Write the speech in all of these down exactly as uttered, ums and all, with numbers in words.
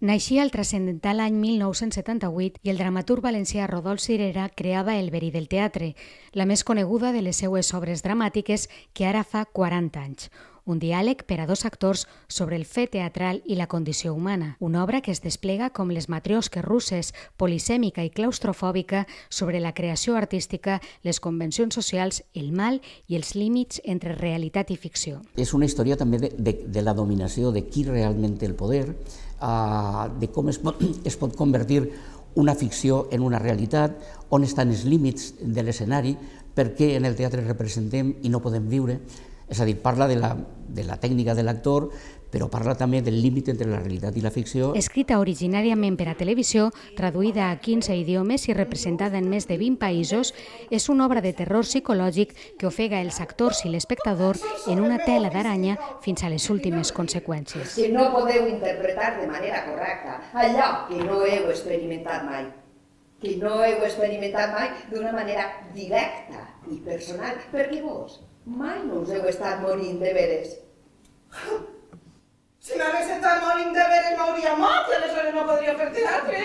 Naixia el transcendental any mil nou-cents setanta-vuit i el dramaturg valencià Rodolf Cirera creava El verí del teatre, la més coneguda de les seues obres dramàtiques que ara fa quaranta anys. Un diàleg per a dos actors sobre el fet teatral i la condició humana. Una obra que es desplega com les matriosques russes, polisèmica i claustrofòbica sobre la creació artística, les convencions socials, el mal i els límits entre realitat i ficció. És una història també de, de, de la dominació, de qui realment té el poder, uh, de com es pot, es pot convertir una ficció en una realitat, on estan els límits de l'escenari, per què en el teatre representem i no podem viure. És a dir, parla de la, de la tècnica de l'actor, però parla també del límit entre la realitat i la ficció. Escrita originàriament per a televisió, traduïda a quinze idiomes i representada en més de vint països, és una obra de terror psicològic que ofega els actors i l'espectador en una tela d'aranya fins a les últimes conseqüències. Que no podeu interpretar de manera correcta allò que no heu experimentat mai. Que no heu experimentat mai d'una manera directa i personal, perquè vos mai no us heu estat morint de veres. Si m'hagués estat morint de veres m'hauria mort i aleshores no podria fer teatre.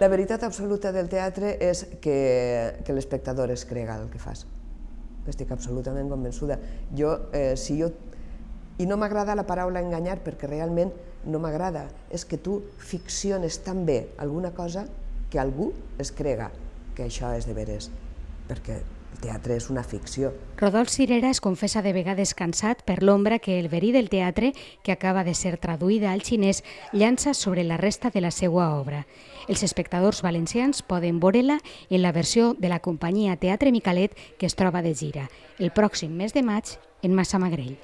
La veritat absoluta del teatre és que, que l'espectador es crega el que fas. Estic absolutament convençuda. Jo, eh, si jo... I no m'agrada la paraula enganyar perquè realment no m'agrada. És que tu ficciones tan bé alguna cosa que algú es crega que això és de veres. Perquè el teatre és una ficció. Rodolf Cirera es confessa de vegades cansat per l'ombra que El verí del teatre, que acaba de ser traduïda al xinès, llança sobre la resta de la seva obra. Els espectadors valencians poden veure-la en la versió de la companyia Teatre Micalet que es troba de gira el pròxim mes de maig en Massamagrell.